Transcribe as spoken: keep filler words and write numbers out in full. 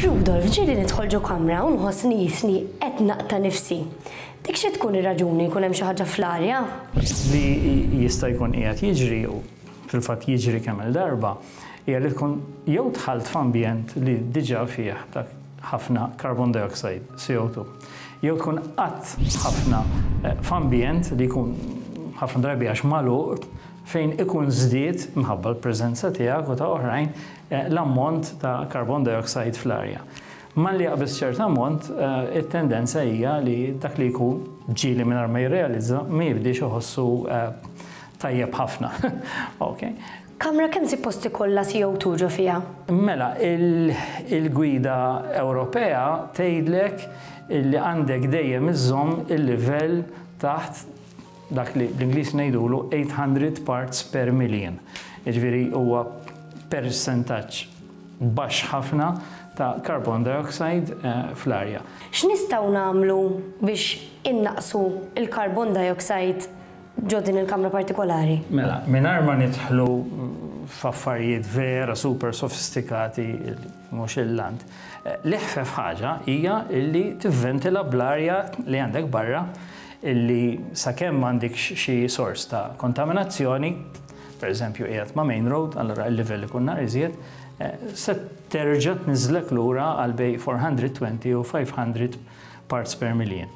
Rudolf, ġieli nidħol ġo kamra u nħossni jisni qed naqta' nifsi. Dik xi tkun ir-raġuni, jkun hemm xi ħaġa fl-arja? Li jista' jkun qiegħed jiġri, u fil-fatt jiġri kemm il-darba, hija li tkun jew dħalt f'ambjent li diġà fih dak ħafna carbon dioxide, C O two, jew tkun qatt ħafna eh, f'ambjent li jkun ħafna drabi għax magħluq, fejn ikun żdied minħabba l-preżenza tiegħek u ta' oħrajn eh, l-ammont ta' carbon dioxide fl-arja. Malli jaqbeż ċert ammont, eh, it-tendenza hija li dak li jkun ġieli mingħajr ma jirrealizza ma jibdiex iħossu eh, tajjeb ħafna. Okay. Kamra kemm suppost ikollha C O two ġo fiha? Mela, il-gwida Ewropea tgħidlek li għandek dejjem iżżomm il-livell taħt dak li bl-Ingliż ngħidulu eight hundred parts per million. Jiġifieri huwa percentaġġ baxx ħafna ta' carbon dioxide eh, fl-arja. X'nistgħu nagħmlu biex innaqsu il-carbon dioxide ġo din il-kamra partikolari? Mela, mingħajr ma nidħlu f'affarijiet vera super sofistikati, mhux il-lant. Eh, l-eħfef ħaġa hija illi tivventila bl-arja li għandek barra, illi sakemm m'għandek xi sors ta' kontaminazzjoni, per eżempju qiegħed ma' main road, allora il-livell ikun naqra iżjed, eh, se terġa' tniżlek lura għal bejn four hundred twenty u five hundred parts per million.